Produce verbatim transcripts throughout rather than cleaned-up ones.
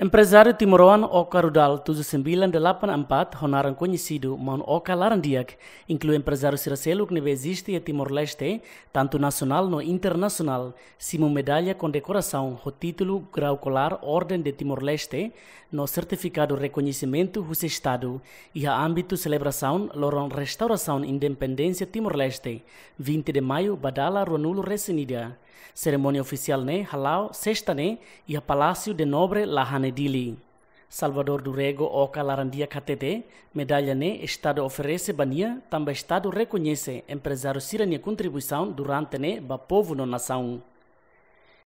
Emprezáriu timoroan Oka Rudal tujuh sembilan delapan empat, ho naran koñesidu Maun Oka Larandiak, inklui emprezáriu sira seluk ne'ebé eziste iha Timor-Leste, tantu nasionál no internasionál, simu medalla kondekorasaun ho títulu grau kolar Orden de Timor-Leste no sertifikadu rekoñesimentu husi Estadu, iha ámbitu selebrasaun loron restaurasaun independénsia Timor-Leste, vinte de Maio ba dala ruanulu resin ida. Serimónia ofisiál ne'e hala'o sesta ne'e iha Palácio de Nobre Lahane, Dili. Salvador do Rego Oka Larandiak hatete, medalla ne'e Estadu oferese ba nia, tanba Estadu rekoñese emprezáriu sira-nia kontribuisaun durante ne'e ba povu no nasaun.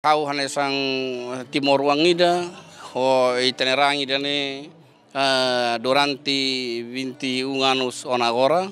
Ha'u hanesan timoroan ida, ho ita-nia ran ida-ne'e, eh, durante vinte e um anos ona agora,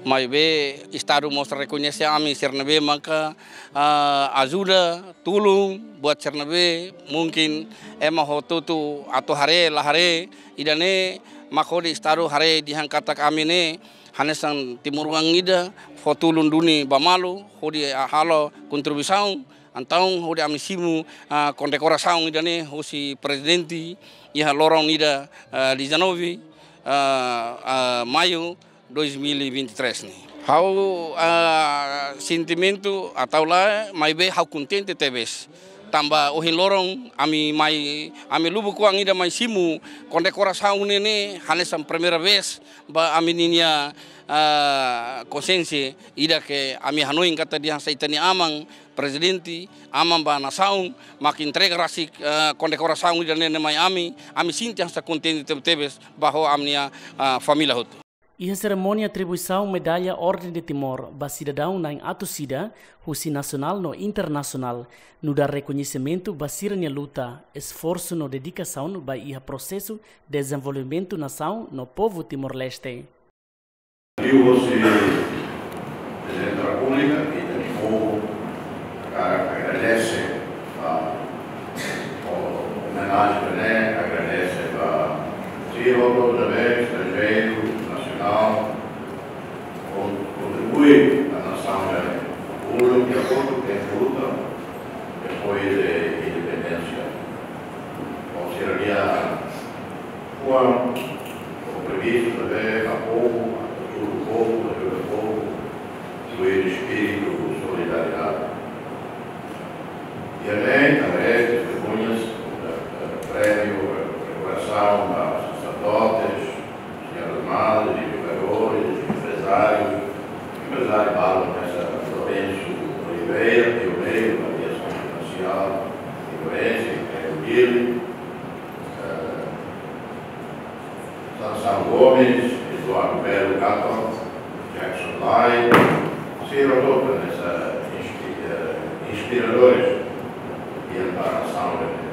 maibé Estadu mós rekoñese ami sira ne'ebé maka, eh, ajuda, tulun, buat sira ne'ebé, mungkin ema hotu-hotu atu haree, la haree, ida-ne'e mak hodi Estadu haree dehan katak ami ne'e hanesan timoroan ida fó tulun duni ba malu, hodi halo kontribuisaun, entaun hodi ami simu, ah, kondekorasaun ida-ne'e husi Prezidente iha loron ida, ah, dezanove, ah, ah, Maio dois mil e vinte e três ne'e. Ha'u, ah, sentimentu atau lae, maibé ha'u kontente tebes. Tanba ohin loron ami mai, ami lubuk-oan ida mai simu kondekorasaun ne'e, ne'e hanesan primeira vez ba ami-nia, ah, konsiénsia ida ke ami hanoin katak dehan se ita-nia aman Prezidente, aman ba nasaun, mak entrega rasik, ah, kondekorasaun ida-ne'e mai ami, ami sente hanesan kontente tebetebes ba ho ami-nia, ah, família hotu. Iha serimónia atribuisaun medalla Orden de Timor ba sidadaun na'in atus ida, husi nasionál no internasionál, nu'udar rekoñesimentu ba sira-nia luta, esforsu no dedikasaun ba iha prosesu dezenvolvimentu nasaun no povu Timor-Leste. Liuhusi Prezidente da Repúblika, ita-nia povu hakarak agradese ba omenajen ne'e, agradese ba sira hotu, estranjeiru, nasionál, kon-, kontribui ba nasaun ne'e, pulu, de akordu ho luta depois de independénsia. Ho sira-nia fuan, kompromisu ne'ebé ba povu, atu ajuda povu, ajuda povu, ho espíritu solidariedade. E além, também, testemunhas, eh, prémiu, eh, kondekorasaun ba saserdotes, señoras madres, educadores, empresários, empresáriu balu hanesan Lourenço Oliveira, pioneiru ba aviasaun komersiál, Timor-Leste, iha Dili, eh, Sansão Gomes, Eduardo Belo Gato, Jackson Lai, sira hotu hanesan inspi-, eh, inspiradores iha nasaun ne'e.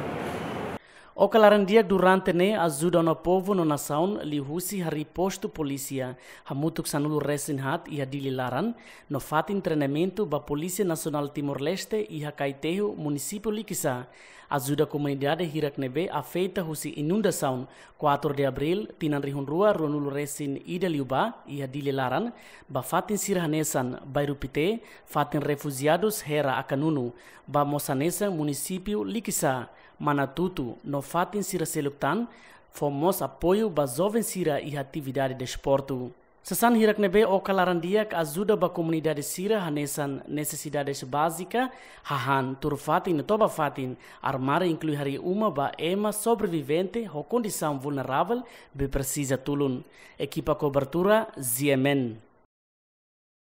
Oka Larandiak durante ne'e ajuda ona povu no nasaun liuhusi harii postu polísia, hamutuk sanulu resin haat iha Dili laran, no fatin treinamentu ba Polísia Nasionál Timor-Leste iha Kaiteho, Munisípiu Likisá. Ajuda komunidade hirak ne'ebé afeta husi inundasaun quatro de Abril, tinan rihun rua ruanulu resin ida liubá, iha Dili laran, ba fatin sira hanesan Bairru Pité, fatin refujiadus Hera Akanunu, ba mós hanesan Munisípiu Likisá, Manatutu, no fatin sira seluk tan, fó mós apoiu ba joven sira iha atividade desportu. Sasán hirak ne'ebé Oka Larandiak ajuda ba komunidade sira hanesan nesesidades bázika, hahán, tuur fatin no toba fatin, armáriu inklui harii uma ba ema sobrevivente ho kondisaun vulneravel be presiza tulun. Ekipa kobertura, G M N.